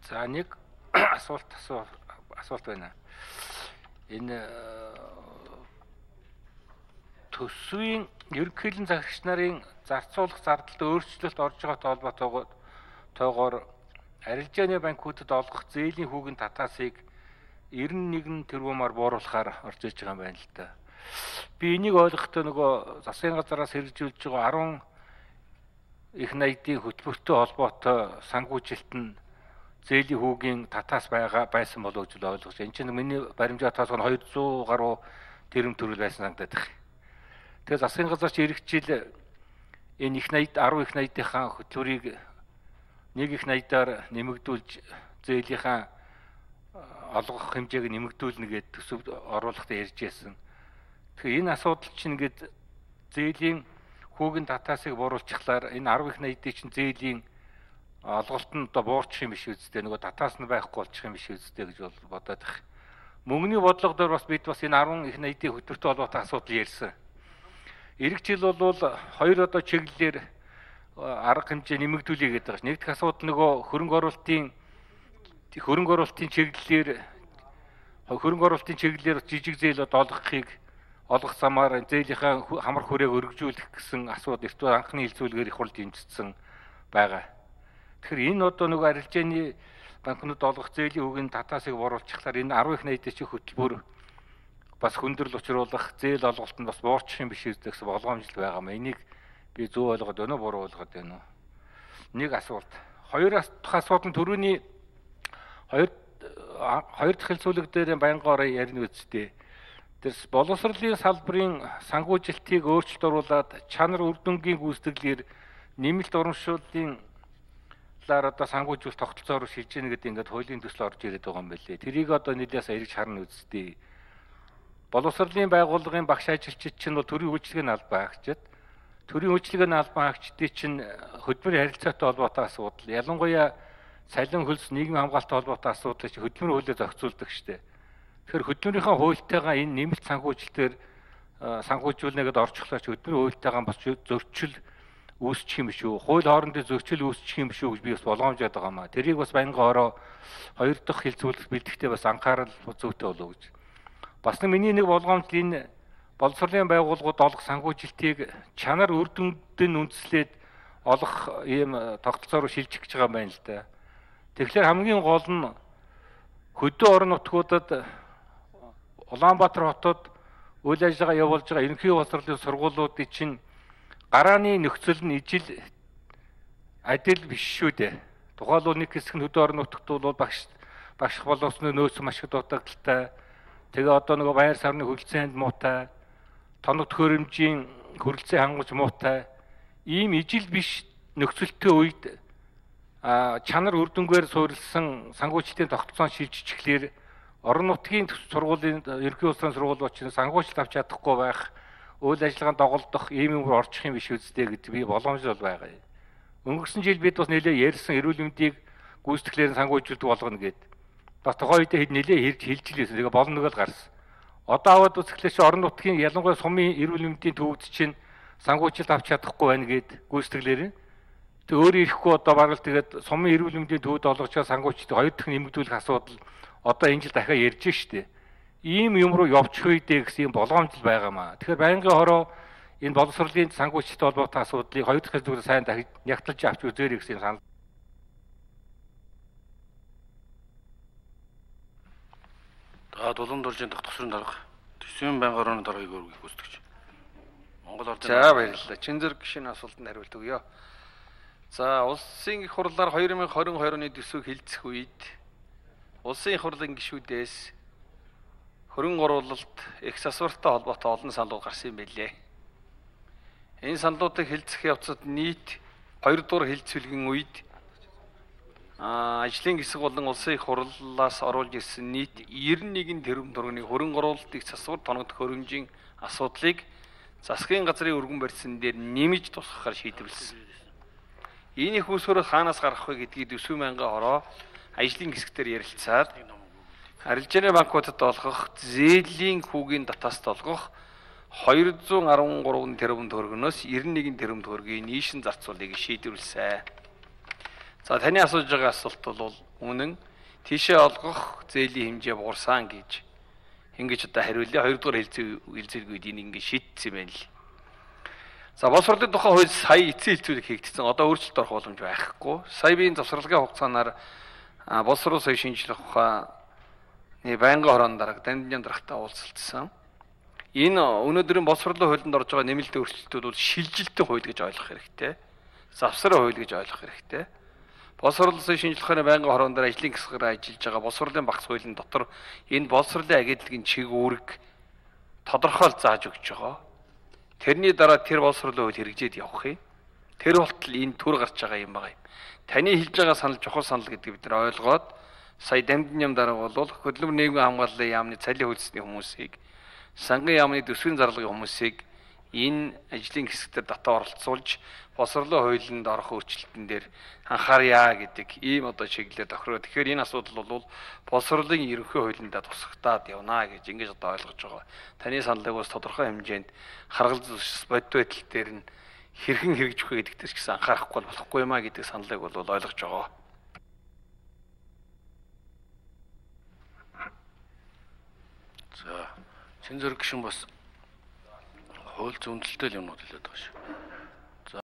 За нэг асуулт байна. Энэ төсвийн ерөнхийлөн захирагч нарын зарцуулах зардалд өөрчлөлт орж байгаатай холбоотойгоор арилжааны банкуудад олгох зээлийн хүүгийн татаасыг 91 тэрбумаар бууруулахаар орж иж байгаа юм байна л да. Би энийг ойлгохдоо нөгөө засгийн газараас хэрэгжүүлж байгаа 10 их найдын хөтөлбөртэй холбоотой санхүүжилт нь зээлийн хүүгийн татаас байсан болов гэж ойлгож байна. Энд чинь миний баримжаа татаас нь 200 гаруй тэрэм төрөл байсан санагдаад байна. Тэгэхээр засгийн газар чи ирэх жил энэ их найд 10 их найдынхаа хөтөлбөрийг нэг их найдаар нэмэгдүүлж зээлийнхаа олгох хэмжээг нэмэгдүүлнэ гэдэг төсөвд оруулахдаа ярьж байсан. Тэгэхээр энэ асуудал чинь ингээд зээлийн хүүгийн татаасыг бууруулчихлаар энэ 10 их найдын чинь зээлийн олголт нь одоо буурчих юм биш үсттэй нөгөө татаас нь байхгүй болчих юм биш үсттэй гэж бодоод байна. Мөнгөний бодлого дээр бас бид бас энэ 10 их найдын хөтөлбөртэй холбоотой асуудал ярьсан. Ирэх жил бол хоёр одоо чиглэлээр арга хэмжээ нэмэгдүүлээ гэдэг байна. Нэг дэх асуудал нөгөө хөрөнгө оруулалтын чиглэлээр жижиг зээл олгох замаар зээлийнхаа хамар хүрээг өргөжүүлэх гэсэн асуудал эртөө анхны хилцүүлгээр их хурл дэмжигдсэн байгаа. Тэгэхээр энэ одоо нөгөө арилжааны банкнууд олгох зээлийн хүүгийн татаасыг бууруулчихлаар энэ 10 их найдын чинь хөтөлбөр бас хүндрэл учруулах зээл олголтод бас буурчих юм биш үү гэсэн болгоомжл байгаа юм. Энийг би зөв ойлгоод байна уу, буруу ойлгоод байна уу? Нэг асуулт. Хоёр дахь асуулт нь төрөний хоёр дахь хэлцүүлэг дээр байнгаараа ярина үсттэй. Тэрс боловсролын салбарын санхүүжилтийг өөрчлөлт оруулаад чанар үр дүнгийн гүйцэтгэлээр нэмэлт урамшууллын одоо санхүүжүүлэлт тогтолцоороо шилжиж гэнэ гэдэг ингээд хуулийн төсөл орж ирээд байгаа юм байлээ. Тэрийг одоо нийлээс эргэж харна үсттэй. Боловсролын байгууллагын багш ажилчид чинь бол төрийн үйлчлэгийн албан хаагчид. Төрийн үйлчлэгийн албан хаагчдын чинь хөдөлмөрийн харилцаатай холбоотой асуудал, ялангуяа салин хөлс нийгмийн хамгаалалттай холбоотой асуудлыг хөдөлмөрийн хуулиар зохицуулдаг штеп. Тэгэхээр хөдөлмөрийнхөө хуультайгаа энэ нэмэлт санхүүжилтээр санхүүжүүлнэ гэдээ орчихлоо ч хөдөлмөрийн хуультайгаа бас зөрчил үүсчих юм биш үү? Хууль хоорондын зөрчил үүсчих юм биш үү гэж би бас болгоомжоод байгаа маа. Тэрийг бас байнгаараа хоёр дахь хэлцүүлэлт бэлтгэхдээ бас анхаарал зүйтэй болов гэж. Бас миний нэг болгоомжл энэ боловсролын байгууллагууд олох санхүүжилтийг чанар үр дүндээ үндэслээд олох ийм тогтолцоо руу шилжих гэж байгаа юм байна л да. Тэгэхээр хамгийн гол нь хөдөө орон нутгуудад Улаанбаатар хотод үйл ажиллагаа явуулж байгаа ерөнхий боловсролын сургуулиудын чинь гарааны нөхцөл нь ижил адил биш шүү дээ. Тухайлбал нэг хэсэг нь хөдөө орон нутагт бол багш боловсны нөөц маш их дутагдaltaй. Тэгээ одоо нөгөө байр савны хөлцөөнд муутай, тоног төхөөрөмжийн хөрөлцөө хангаж муутай. Ийм ижил биш нөхцөлтэй үед чанар үр дүнгээр суурилсан санхүүжилтийн тогтолцоон шилжчихлээр орон нутгийн сургуулийн ерөнхий улсын сургуулиуд чинь санхүүжилт авч чадахгүй байх, үйл ажиллагаанд доголдох ийм юм орчих юм биш үстэй гэдэг би боломжтой байгаа юм. Өнгөрсөн жил бид бас нэлээд ярьсан эрүүл мэндийг гүйцэтгэлээр санхүүжилт болгоно гэд. Бас тухайн үедээ хэд нэлээд хэлжилсэн. Тэгээ болно нэг л гарсан. Одоо аваад үзэхлээр чи орон нутгийн ялангуяа сумын эрүүл мэндийн төвүүд чинь санхүүжилт авч чадахгүй байна гэд гүйцэтгэлээр. Тэг өөрөө ирэхгүй одоо бараг л тэгээд сумын эрүүл мэндийн төвд олгож байгаа санхүүжилтийг хоёр дахь нэмэгдүүлэх асуудал одоо энэ жил дахиад ярьж штэ. Ийм юм руу явчих үедээ гэсэн юм болгоомжл байгаамаа. Тэгэхээр байнгын хороо энэ боловсролын санхүүжилттэй холбоотой асуудлыг хоёр дахь зүйлээр сайн дахиж нягтлж авч үзээрэй гэсэн санал. Дулуун дуржийн дахь тосрын дарга төсвийн байнгын хорооны даргаыг өргөх гүйцэтгэж. Монгол ордын. За баярлалаа. Чин зэрэг гişийн асуултанд хариулт өгье. За улсын их хурлаар 2022 оны төсвийг хэлцэх үед улсын их хурлын гишүүдээс хөрөнгө оруулалт их засвартай холбоотой олон саналууд гарсан юм билээ. Энэ саналуудыг хэлцэх явцад нийт 2 дугаар хэлцүүлгийн үед ажлын хэсэг болон улсын их хурлаас оруулж ирсэн нийт 91 тэрбум төгрөгийн хөрөнгө оруулалтыг засвар тоног төхөөрөмжийн асуудлыг засгийн газрын өргөн барьсан дээр нэмж тусгахаар шийдвэрлсэн. Энэ их үүсвэр хаанаас гарах вэ гэдгийг төсвийн байнгын хороо ажлын хэсгээр ярилцаад арилжааны банкудад олгох зээлийн хүүгийн татааст олгох 213 тэрбум төгрөгнөөс 91 тэрбум төгрөгийн нийшин зарцуулыг шийдвэрлэсэн. За таны асууж байгаа асуулт бол үнэн тийшээ олгох зээлийн хэмжээ буурсан гэж ингэж одоо хариулъя. Хоёрдугаар хэлцээний үед ингэ шийдсэн байна л. За боловсролын тухай хууль сая эцсийн хэлцүүлэг хийгдсэн. Одоо өөрчлөлт орох боломж байхгүй. Сая биеийн завсралгын хугацаанаар боловсрол соёл шинжилэх ухааны байнгын хорооны дарга Дамжин даргатай уулзалтсан. Энэ өнөөдрийн боловсролын хуулинд орж байгаа нэмэлт өөрчлөлтүүд бол шилжилтийн хууль гэж ойлгох хэрэгтэй. Завсрын хууль гэж ойлгох хэрэгтэй. Боловсролын соёл шинжилэх ухааны байнгын хороонд дээр ажлын хэсгээр ажиллаж байгаа боловсролын багц хуулийн дотор энэ боловсролын агентлагийн чиг үүрэг тодорхойл зааж өгч байгаа. Тэрний дараа тэр боловсролын хууль хэрэгжээд явах юм. Тэр болтол энэ төр гарч байгаа юм байна. Таны хэлж байгаа санал чухал санал гэдгийг бид нар ойлгоод сая Дамжин ям дарга бол хөдөлмөр нийгмийн хамгааллын яамны цалин хөлсний хүмүүсийг сангийн яамны төсвийн зарлагын хүмүүсийг энэ ажлын хэсэгтэр татаа оролцуулж боловсролын хуулинд орох өөрчлөлтөн дээр анхаарья гэдэг ийм одоо чиглэлээр тохироо. Тэгэхээр энэ асуудал бол боловсролын ерөнхий хуулиндаа тусгатаад явна гэж ингэж одоо ойлгож байгаа. Таны саналыг бас тодорхой хэмжээнд харгалзах бодит байдал дээр нь хэрхэн хэрэгжих вэ гэдэгт ч гэсэн анхаарахгүй болохгүй юмаа гэдэг саналыг бол ойлгож байгаа. За, чин зэрэг гишүүн бас хууль зүйнэлтэй юмнууд хэлээд байгаа шүү.